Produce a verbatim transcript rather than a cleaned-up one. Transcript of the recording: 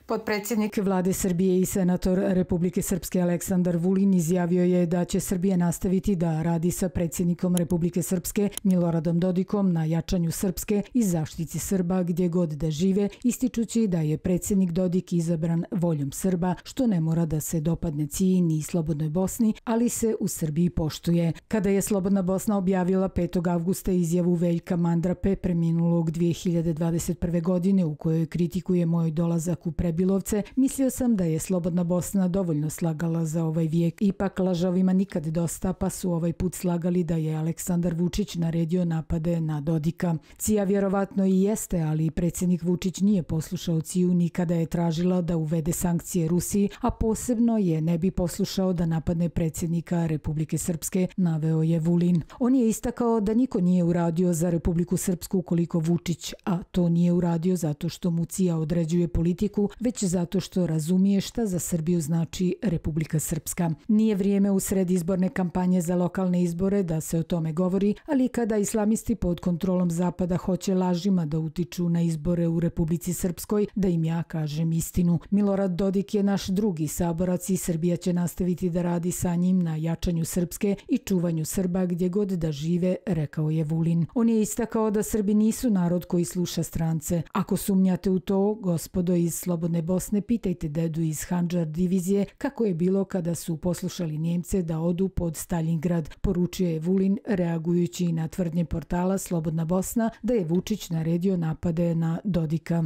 Potpredsjednik vlade Srbije i senator Republike Srpske Aleksandar Vulin izjavio je da će Srbija nastaviti da radi sa predsjednikom Republike Srpske Miloradom Dodikom na jačanju srpske i zaštiti Srba gdje god da žive, ističući da je predsjednik Dodik izabran voljom Srba, što ne mora da se dopadne C I ni Slobodnoj Bosni, ali se u Srbiji poštuje. Kada je Slobodna Bosna objavila petog avgusta izjavu Veljka Mandrape, preminulog dvije hiljade dvadeset prve. godine, u kojoj kritikuje moj dolazak u Prebilovce, mislio sam da je Slobodna Bosna dovoljno slagala za ovaj vijek. Ipak lažovima nikad dosta, pa su ovaj put slagali da je Aleksandar Vučić naredio napade na Dodika. C I A vjerovatno i jeste, ali predsjednik Vučić nije poslušao C I A ni kada je tražila da uvede sankcije Rusiji, a posebno je ne bi poslušao da napadne predsjednika Republike Srpske, naveo je Vulin. On je istakao da niko nije uradio za Republiku Srpsku koliko Vučić, a to nije uradio zato što mu C I A određuje politiku, već zato što razumije šta za Srbiju znači Republika Srpska. Nije vrijeme u sred izborne kampanje za lokalne izbore da se o tome govori, ali kada islamisti pod kontrolom Zapada hoće lažima da utiču na izbore u Republici Srpskoj, da im ja kažem istinu. Milorad Dodik je naš drugi saborac i Srbija će nastaviti da radi sa njim na jačanju srpske i čuvanju Srba gdje god da žive, rekao je Vulin. On je istakao da Srbi nisu narod koji sluša strance. Ako sumnjate u to, gospodo iz Slobodne Bosne, pitajte dedu iz Handžar divizije kako je bilo kada su poslušali Njemce da odu pod Staljingrad, poručio je Vulin, reagujući na tvrdnje portala Slobodna Bosna da je Vučić naredio napade na Dodika.